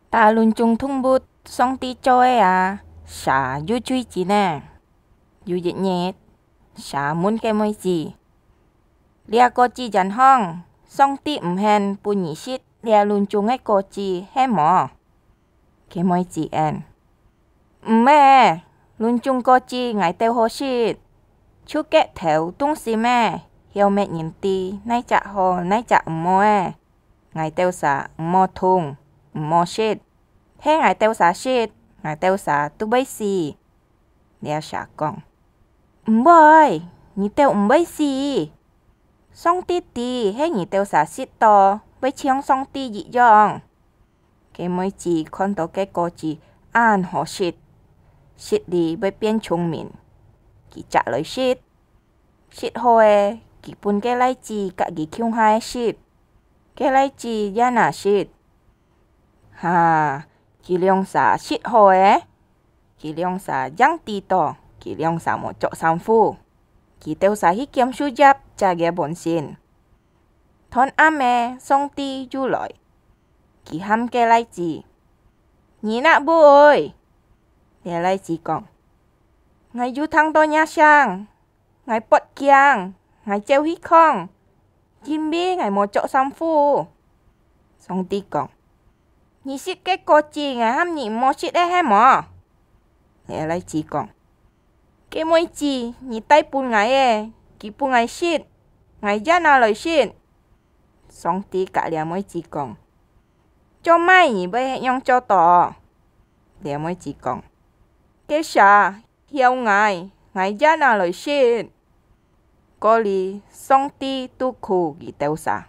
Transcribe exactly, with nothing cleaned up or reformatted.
打論中動物，上帝做个啊，蛇又最精呢。有一日，蛇問該妹子：「這果子園項，上帝毋肯分你食這論中个果子，係無？」該妹子應：「毋係，論中果子𠊎兜好食，就結頭動心个，曉搣人知哪隻好哪隻毋好个。𠊎兜儕毋好動，毋好食，係𠊎兜儕食，𠊎兜儕都會死。」這蛇講：「毋會，你兜毋會死。上帝知係你兜儕食到，會像上帝一樣。」該妹子看到該果子恁好食，食了會變聰明，佢摘來食。食好个，佢分該倈子佮佢共下食。該倈子也拿食。哈，佢兩儕食好个，佢兩儕正知到，佢兩儕無著衫褲。佢兜儕去撿樹葉遮个本身。 斷暗个，上帝又來，佢喊該倈子：「你哪位？」這倈子講：「𠊎有聽到若聲，𠊎發驚，𠊎走去看，因為𠊎無著衫褲。」上帝講：「你食該果子，𠊎喊你毋好食个係無？」這倈子講：「該妹子你帶分𠊎个，佢分𠊎食，𠊎也拿來食。」 上帝佮這妹子講：「做麼你會恁樣做到？」這妹子講：「該蛇咬𠊎，𠊎也拿來食。」過了，上帝都顧佢兜儕。